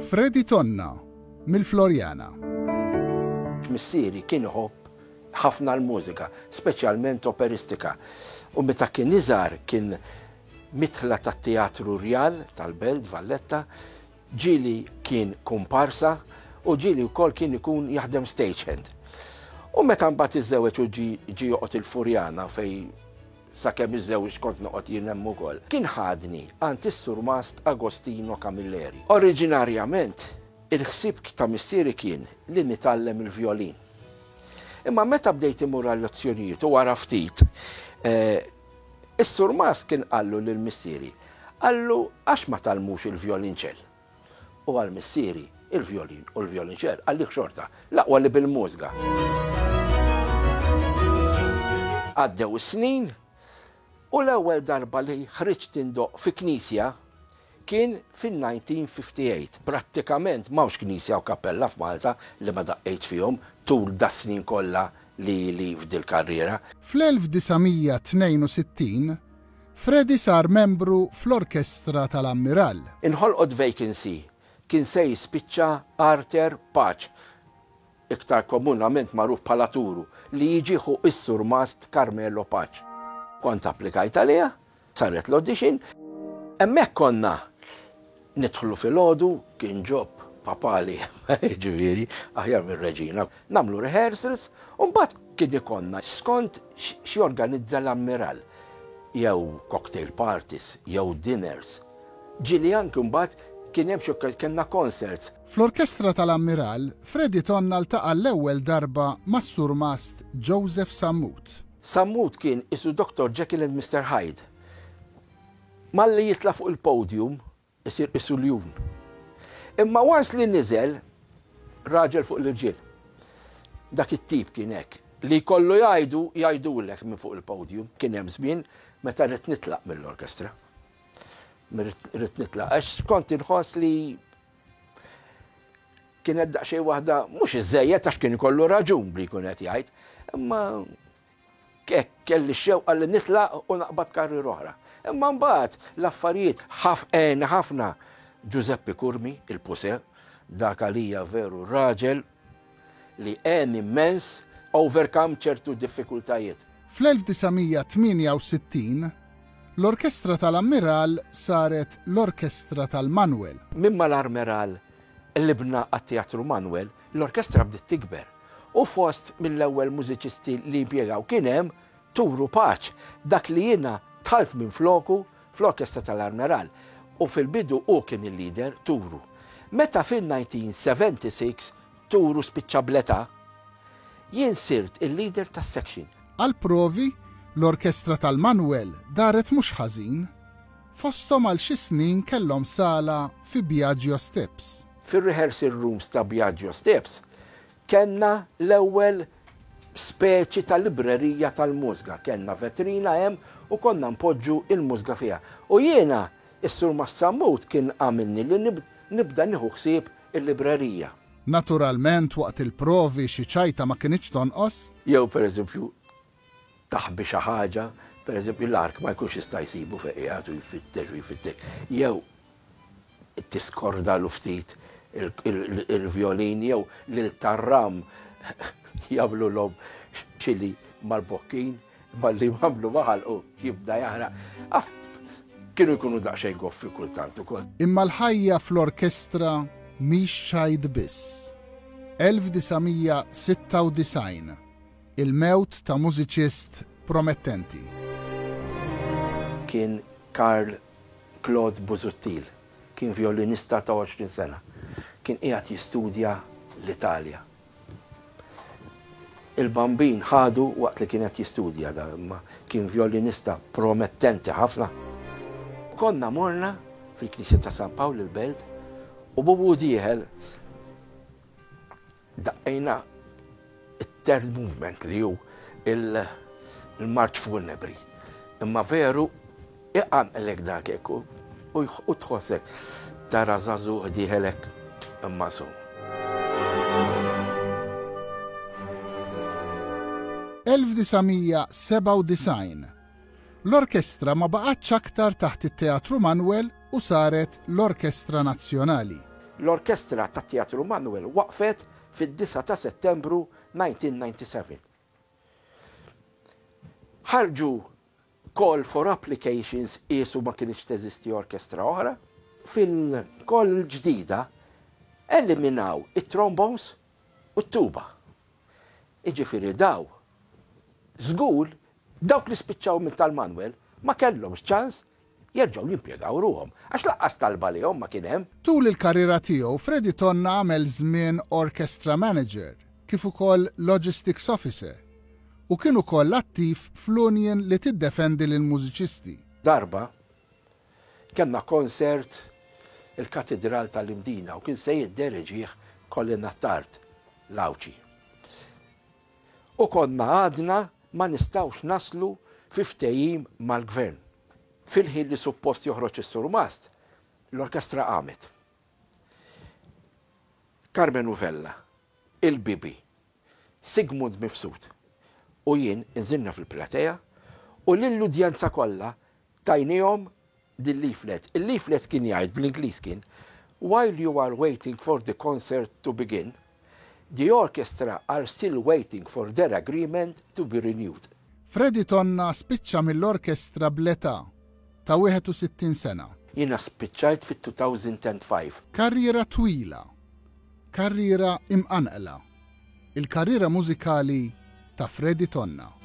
Freddie Tonna mill-Floriana. Missieri kien iħobb ħafna l-mużika, speċjalment operistika. U meta kien iżgħar kien midħla tat-Teatru Rjal tal-Belt Valletta, ġieli kien kumparsa u ġieli wkoll kien ikun jaħdem stagehand. U meta mbagħad iżżewweġ u ġie joqgħod il-Furjana fejn sakemm iżżewwiġt kont noqgħod jien hemm ukoll, kien ħadni għand is-Surmast Agostino Camilleri. Oriġinarjament il-ħsieb ta' missieri kien li nitgħallem il-vjolin. Imma meta bdejt immur għal-lezzjonijiet u wara ftit, eh, is-surmast kien qallu lil missieri, qallu għax ma tgħallmux il-vjolinċell. U għal missieri, il-vjolin u l-vjolinċell għalih xorta, l-aqwa li bil-mużga. Għaddew is-snin u l-ewwel darba li ħriġt indoqq fi knisja kien fin-1958. Prattikament m'hawnx knisja u kappella f'Malta li ma daqqejtx fihom tul das-snin kollha li ili f'dil-karriera. Fl-1962, Freddie sar membru fl-Orkestra tal-Ammirall. Inħolqot vacancy, kien se jispiċċa Arthur Pace, iktar komunament magħruf bħala Turu, li jiġi ħu s-Surmast Carmelo Pace. Kont applikajt għaliha, saret l-audition. Hemmhekk konna nidħlu filgħodu, kien ġob papali, ġifieri, aħjar mir-reġina. Nagħmlu rehearsals u mbagħad kien ikollna skont x'jorganizza l-ammiral, jew cocktail parties, jew dinners. Ġieli anki mbagħad kien hemm xi kellna concerts. Fl-orkestra tal-Ammiral, Freddie Tonna ltaqa' l-ewwel darba mas-Surmast Joseph Sammut. Sammut kien qisu Doctor Jekyll and Mister Hyde. Malli jitla' fuq il-podium isir qisu ljun. Imma once li niżel, raġel fuq l-irġiel. Dak it-tip kien hekk. Li jkollu jgħidu, jgħidulek minn fuq il-podium. Kien hemm żmien meta ridt nitlaq mill-orkestra. Ridt nitlaq għax kont inħoss li kienet daqsxejn waħda mhux iżejjed għax kien ikollu raġun bli jkun qed jgħid, imma kelli x-xewqa li nitlaq u naqbad karriera oħra. Imma mbagħad l-affarijiet ħafqen ħafna Giuseppe Curmi, il-Puse, dak għalija veru raġel li għen immens overcome ċertu diffikultajiet. Fl-1968, l-Orkestra tal-Ammiral saret l-Orkestra tal-Manwel. Minn mal-Armeral qlibna għat-Teatru Manwel, l-orkestra bdiet tikber u fost mill-ewwel mużiċisti li impjegaw kien hemm Turu Pace, dak li jiena dħalt minfloku fl-Orkestra tal-Armeral u fil-bidu hu kien il-leader, Turu. Meta fin-1976 Turu spiċċa bl-età, jien sirt il-leader tas-section. Għall-provi, l-Orkestra tal-Manwel daret mhux ħażin. Fosthom għal xi snin kellhom sala fi Biagio Steps. Fir-rehearsal rooms ta' Biagio Steps kellna l-ewwel speċi ta' librerija tal-mużga. Kellna vetrina hemm u konna npoġġu l-mużga fiha. U jiena, is-Sur Massammut kien għamilni li nibda nieħu ħsieb il-librerija. Naturalment waqt il-provi xi ċajta ma kinitx tonqos. Jew pereżempju taħbi xi ħaġa, pereżempju l-ark ma jkunx jista' jsibu fejn qiegħed u jfittex u jfittex. Jew tiskordalu ftit il-vjolin jew lil tar-ram jagħmlulhom ċili mal-bokkin malli jagħmlu ma' ħalqu jibda jaħraq. Kienu jkunu daqsxejn goffi kultant ukoll. Imma l-ħajja fl-orkestra mhix ċajt biss. 1996, il-mewt ta' mużiċist promettenti. Kien Karl Claude Busuttil, kien vjolinista ta' 20 sena. Kien qiegħed jistudja l-Italja. Il-Bambin ħadu waqt li kien qed jistudja da, imma kien vjolinista promettenti ħafna. Konna morna fil-Knisja ta' San Pawl il-Belt u bubu dieħel daqqejna it-third movement li hu il-marċ funebri. Imma veru iqanqlek dak hekk u tħossek tara żagħżugħ dieħel hekk imma sum. 1997. L-orkestra ma baqgħetx aktar taħt it-Teatru Manwel u saret l-Orkestra Nazzjonali. L-orkestra tat-Teatru Manoel waqfet fid-9 ta' Settembru 1997. Ħarġu call for applications qiesu ma kinitx teżisti orkestra oħra. Fil-call il-ġdida eliminaw it-trombones u t-tuba. Jiġifieri daw żgur dawk li spiċċaw minn tal-Manuel ma kellhomx ċans jerġgħu jimpjegaw ruħhom għax lanqas talba għalihom ma kien hemm. Tul il-karriera tiegħu Freddie Tonna għamel żmien Orchestra Manager kif ukoll Logistics Officer u kien ukoll attiv fl-union li tiddefendi lill-mużiċisti. Darba kellna concert il-Katidral tal-Imdina u kien se jiddereġih Colin Attard, l-Għawdxi. U konna għadna ma nistgħux naslu fi ftehim mal-Gvern. Fil-ħin li suppost joħroġ is-surmast, l-orkestra qamet. Karmenu Vella, il-Bibi, Sigmund Mifsud u jien inżilna fil-platea u lill-udjenza kollha tajniehom dil-leaflet. Il-leaflet kien jgħid bl-Ingliż kien While you are waiting for the concert to begin, the orchestra are still waiting for their agreement to be renewed. Freddie Tonna spiċċa mill-orkestra bl-età ta' 61 sena. Jiena spiċċajt fit-2005. Karriera twila. Karriera imqanqla. Il-karriera mużikali ta' Freddie Tonna.